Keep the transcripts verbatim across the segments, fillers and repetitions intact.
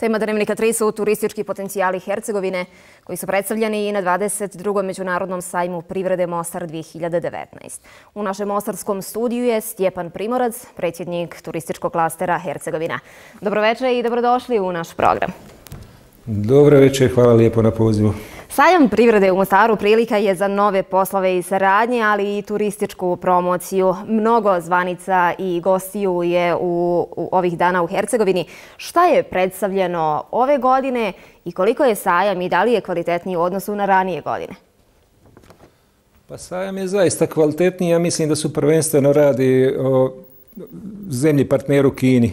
Tema Dnevnika tri su turistički potencijali Hercegovine koji su predstavljeni i na dvadeset drugom Međunarodnom sajmu privrede Mostar dvije hiljade devetnaest. U našem mostarskom studiju je Stjepan Primorac, predsjednik turističkog klastera Hercegovina. Dobroveče i dobrodošli u naš program. Dobro večer, hvala lijepo na pozivu. Sajam privrede u Mostaru prilika je za nove poslove i saradnje, ali i turističku promociju. Mnogo zvanica i gostiju je u, u ovih dana u Hercegovini. Šta je predstavljeno ove godine i koliko je sajam i da li je kvalitetniji u odnosu na ranije godine? Pa sajam je zaista kvalitetniji. Ja mislim da su prvenstveno radi o zemlji partneru Kini,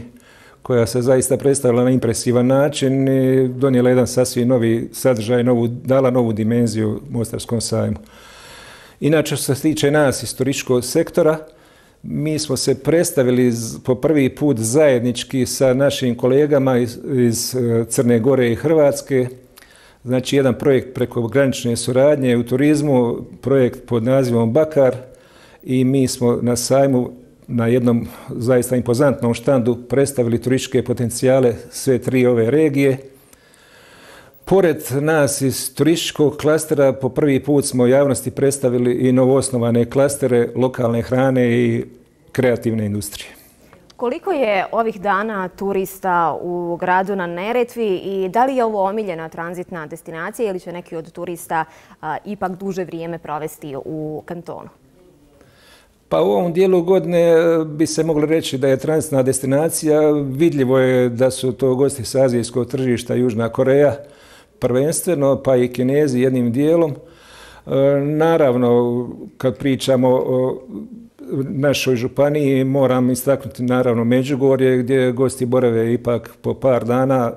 koja se zaista predstavila na impresivan način i donijela jedan sasvim novi sadržaj, novu, dala novu dimenziju Mostarskom sajmu. Inače, što se tiče nas iz turističkog sektora, mi smo se predstavili po prvi put zajednički sa našim kolegama iz, iz Crne Gore i Hrvatske. Znači, jedan projekt prekogranične suradnje u turizmu, projekt pod nazivom Bakar, i mi smo na sajmu na jednom zaista impozantnom štandu predstavili turističke potencijale sve tri ove regije. Pored nas iz turističkog klastera po prvi put smo javnosti predstavili i novoosnovane klastere lokalne hrane i kreativne industrije. Koliko je ovih dana turista u gradu na Neretvi i da li je ovo omiljena tranzitna destinacija ili će neki od turista a, ipak duže vrijeme provesti u kantonu? Pa u ovom dijelu godine bi se moglo reći da je tranzitna destinacija. Vidljivo je da su to gosti s azijskog tržišta, Južna Koreja prvenstveno, pa i Kinezi jednim dijelom. Naravno, kad pričamo o našoj županiji, moram istaknuti naravno Međugorje, gdje gosti borave ipak po par dana.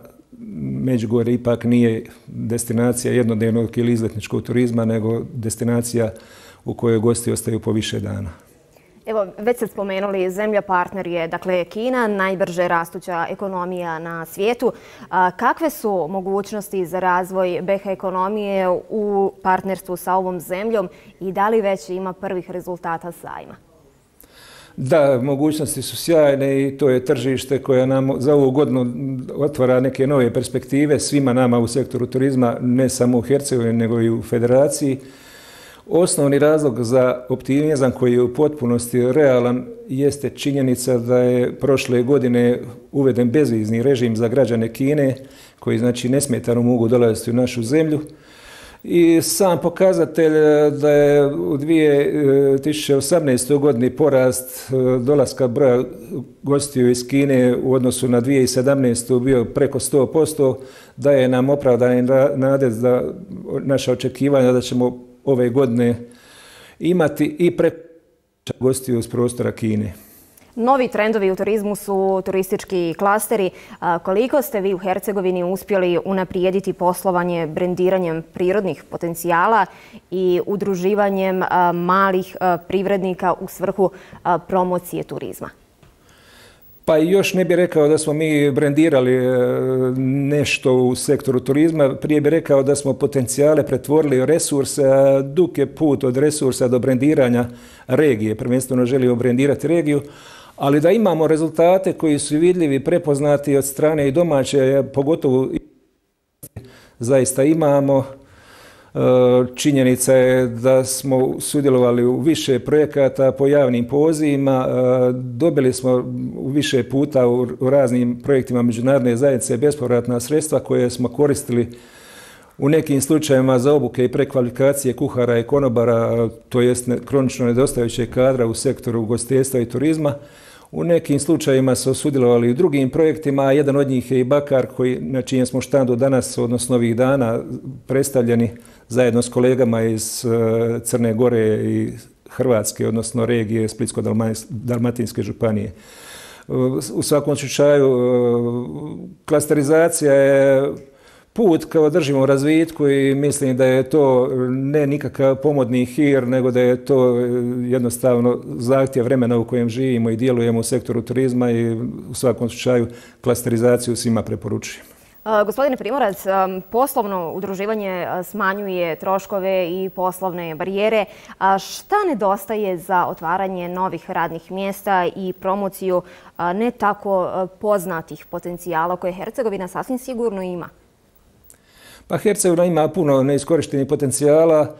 Međugorje ipak nije destinacija jednodnevnog ili izletničkog turizma, nego destinacija u kojoj gosti ostaju po više dana. Evo, već ste spomenuli, zemlja partner je, dakle, Kina, najbrže rastuća ekonomija na svijetu. A, kakve su mogućnosti za razvoj B H ekonomije u partnerstvu sa ovom zemljom i da li već ima prvih rezultata sajma? Da, mogućnosti su sjajne i to je tržište koje nam za ovu godinu otvara neke nove perspektive svima nama u sektoru turizma, ne samo u Hercegovini, nego i u Federaciji. Osnovni razlog za optimizam koji je u potpunosti realan jeste činjenica da je prošle godine uveden bezvizni režim za građane Kine, koji znači nesmetano mogu dolaziti u našu zemlju. I sam pokazatelj da je u dvije tisuće osamnaestoj godini porast dolaska broja gostiju iz Kine u odnosu na dvije tisuće sedamnaestu bio preko sto posto, daje nam opravdane nade za naša očekivanja da ćemo ove godine imati i preko gostiju iz prostora Kine. Novi trendovi u turizmu su turistički klasteri. Koliko ste vi u Hercegovini uspjeli unaprijediti poslovanje brendiranjem prirodnih potencijala i udruživanjem malih privrednika u svrhu promocije turizma? Pa još ne bih rekao da smo mi brendirali nešto u sektoru turizma, prije bih rekao da smo potencijale pretvorili u resurse, a dug je put od resursa do brendiranja regije. Prvenstveno želimo brendirati regiju, ali da imamo rezultate koji su vidljivi, prepoznati od strane i domaće, pogotovo zaista imamo. Činjenica je da smo sudjelovali u više projekata po javnim pozivima, dobili smo više puta u raznim projektima međunarodne zajednice bespovratna sredstva koje smo koristili u nekim slučajevima za obuke i prekvalifikacije kuhara i konobara, to jest kronično nedostajućeg kadra u sektoru ugostiteljstva i turizma. U nekim slučajevima su sudjelovali u drugim projektima, a jedan od njih je i Bakar, koji, na čijem smo štandu danas, odnosno ovih dana, predstavljeni zajedno s kolegama iz Crne Gore i Hrvatske, odnosno regije Splitsko-dalmatinske županije. U svakom slučaju, klasterizacija je put kao držimo razvitku i mislim da je to ne nikakav pomodni hir, nego da je to jednostavno zahtjev vremena u kojem živimo i djelujemo u sektoru turizma i u svakom slučaju klasterizaciju svima preporučujem. Gospodine Primorac, poslovno udruživanje smanjuje troškove i poslovne barijere. A šta nedostaje za otvaranje novih radnih mjesta i promociju ne tako poznatih potencijala koje Hercegovina sasvim sigurno ima? Pa Hercegovina ima puno neiskorištenih potencijala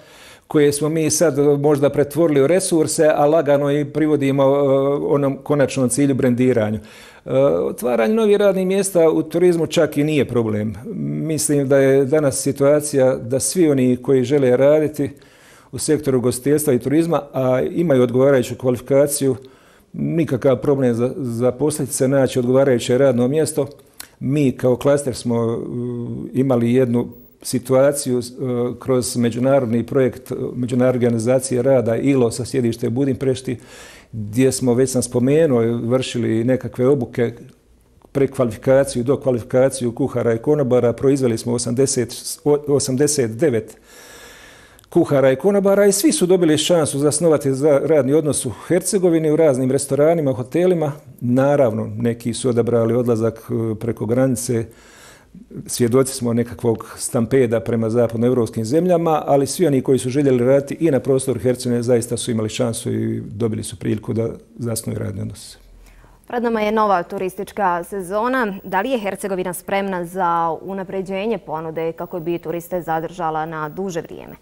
koje smo mi sad možda pretvorili u resurse, a lagano i privodimo onom konačnom cilju, brendiranju. Otvaranje novih radnih mjesta u turizmu čak i nije problem. Mislim da je danas situacija da svi oni koji žele raditi u sektoru ugostiteljstva i turizma, a imaju odgovarajuću kvalifikaciju, nikakav problem za, za posljediti se naći odgovarajuće radno mjesto. Mi kao klaster smo imali jednu situaciju kroz međunarodni projekt Međunarodne organizacije rada I L O sa sjedište u Budimpešti, gdje smo, već sam spomenuo, vršili nekakve obuke, prekvalifikaciju, dokvalifikaciju kuhara i konobara. Proizveli smo osamdeset devet kuhara i konobara i svi su dobili šansu zasnovati za radni odnos u Hercegovini, u raznim restoranima, hotelima. Naravno, neki su odabrali odlazak preko granice. Svjedoci smo nekakvog stampeda prema zapadnoevropskim zemljama, ali svi oni koji su željeli raditi i na prostoru Hercegovine zaista su imali šansu i dobili su priliku da zasnuju radni odnos. Pred nama je nova turistička sezona. Da li je Hercegovina spremna za unapređenje ponude kako bi turiste zadržala na duže vrijeme?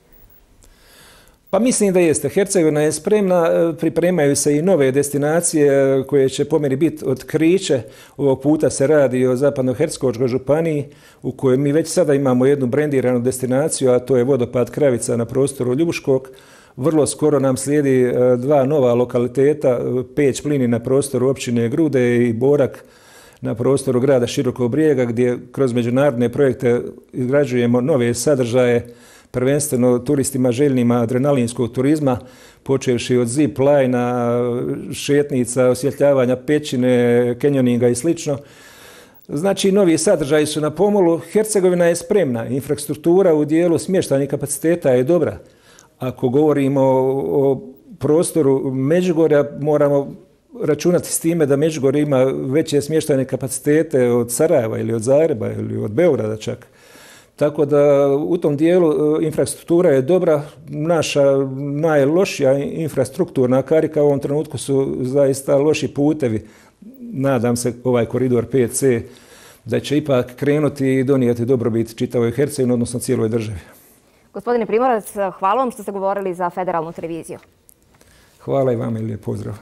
Pa mislim da jeste. Hercegovina je spremna, pripremaju se i nove destinacije koje će po meni biti otkriće. Ovog puta se radi o Zapadnohercegovačkoj županiji u kojoj mi već sada imamo jednu brendiranu destinaciju, a to je vodopad Kravica na prostoru Ljubuškog. Vrlo skoro nam slijedi dva nova lokaliteta, Peć Plini na prostoru općine Grude i Borak na prostoru grada Širokog Brijega, gdje kroz međunarodne projekte izgrađujemo nove sadržaje, prvenstveno turistima željnima adrenalinskog turizma, počevši od zip lajna, šetnica, osvjetljavanja pećine, kenjoninga i slično. Znači, novi sadržaji su na pomolu. Hercegovina je spremna. Infrastruktura u dijelu smještajnih kapaciteta je dobra. Ako govorimo o prostoru Međugorja, moramo računati s time da Međugorje ima veće smještajne kapacitete od Sarajeva ili od Zagreba ili od Beograda čak. Tako da u tom dijelu infrastruktura je dobra. Naša najlošija infrastrukturna karika u ovom trenutku su zaista loši putevi. Nadam se ovaj koridor pet ce da će ipak krenuti i donijeti dobrobit čitavoj Hercegovini, odnosno cijeloj državi. Gospodine Primorac, hvala vam što ste govorili za Federalnu televiziju. Hvala i vama i lijep pozdrav.